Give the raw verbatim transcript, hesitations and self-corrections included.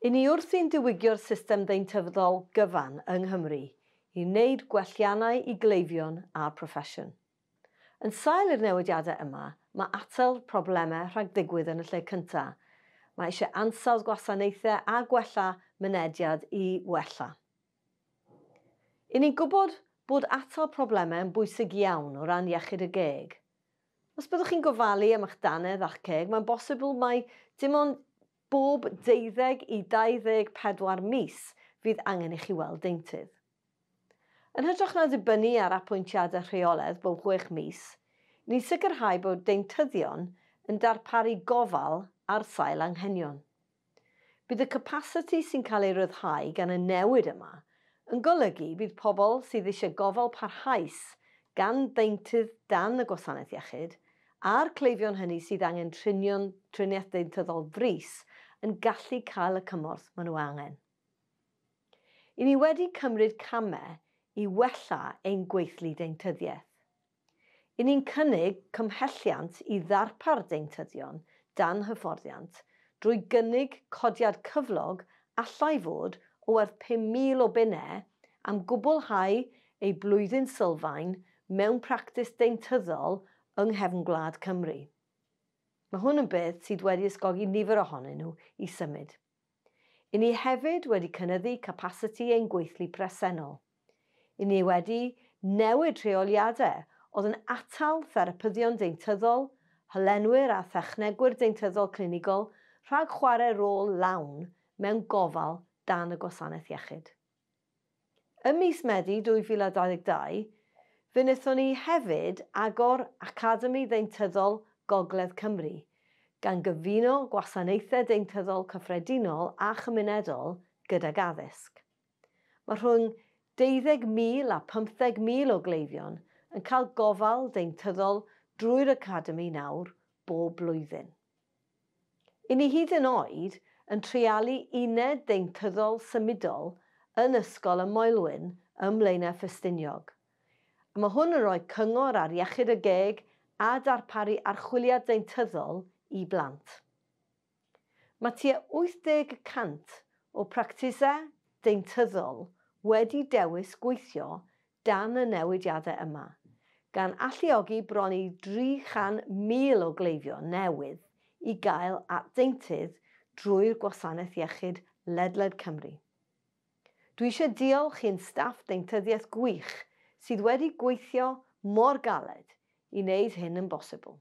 I ni wrthi'n diwygio'r system ddeintyddol gyfan yng Nghymru i wneud gwelliannau i gleifion a'r proffesiwn. Yn sail i'r newidiadau yma, mae atal problemau rhag ddigwydd yn y lle cyntaf. Mae eisiau ansawdd gwasanaethau a gwella mynediad i wella. I ni'n gwybod bod atal problemau yn bwysig iawn o ran iechyd y geg. Os byddwch chi'n gofalu am eich dannedd a'ch ceg, mae'n bosibl mai dim ond bob deuddeg i dau ddeg pedwar mis fydd angen i chi weld deintydd. Yn hytrach na dibynnu ar apwyntiadau rheolaidd bob chwech mis, ni'n sicrhau bod deintyddion yn darparu gofal ar sail anghenion. Bydd y capasiti sy'n cael ei ryddhau gan y newid yma yn golygu bydd pobl sydd eisiau gofal parhaus gan ddeintydd dan y gwasanaeth iechyd a'r cleifion hynny sydd angen trinion, triniaeth ddeintyddol frys yn gallu cael y cymorth maen nhw angen. I ni wedi cymryd camau i wella ein gweithlu deintyddiaeth. I ni'n cynnig cymhelliant i ddarpar deintyddion dan hyfforddiant drwy gynnig codiad cyflog allai fod o werth pum mil o bunnau am gwblhau ei blwyddyn sylfaen mewn practis deintyddol yng nghefn gwlad Cymru. Mae hwn yn beth sydd wedi ysgogi nifer ohonyn nhw i symud. I ni hefyd wedi cynyddu capasiti ein gweithlu presennol. I ni wedi newid rheoliadau oedd yn atal therapyddion deintyddol, hylenwyr a thechnegwyr deintyddol clinigol rhag chwarae rôl lawn mewn gofal dan y gwasanaeth iechyd. Ym mis Medi dwy fil a dau ddeg dau, fe wnaethon ni hefyd agor Academi Ddeintyddol Gogledd Cymru, gan gyfuno gwasanaethau deintyddol cyffredinol a chymunedol gydag addysg. Mae rhwng deuddeg mil a pymtheg mil o gleifion yn cael gofal deintyddol drwy'r Academi nawr bob blwyddyn. I ni hyd yn oed yn treialu uned deintyddol symudol yn Ysgol y Moelwyn ym Mlaenau Ffestiniog. A mae hwn yn rhoi cyngor ar iechyd y geg a darparu archwiliad deintyddol i blant. Mae tua wyth deg y cant o practisau deintyddol wedi dewis gweithio dan y newidiadau yma, gan alluogi bron i dri chan mil o gleifion newydd i gael at deintydd drwy'r gwasanaeth iechyd ledled Cymru. Dwi eisiau diolch i'n staff deintyddiaeth gwych sydd wedi gweithio mor galed i wneud hyn yn bosibl.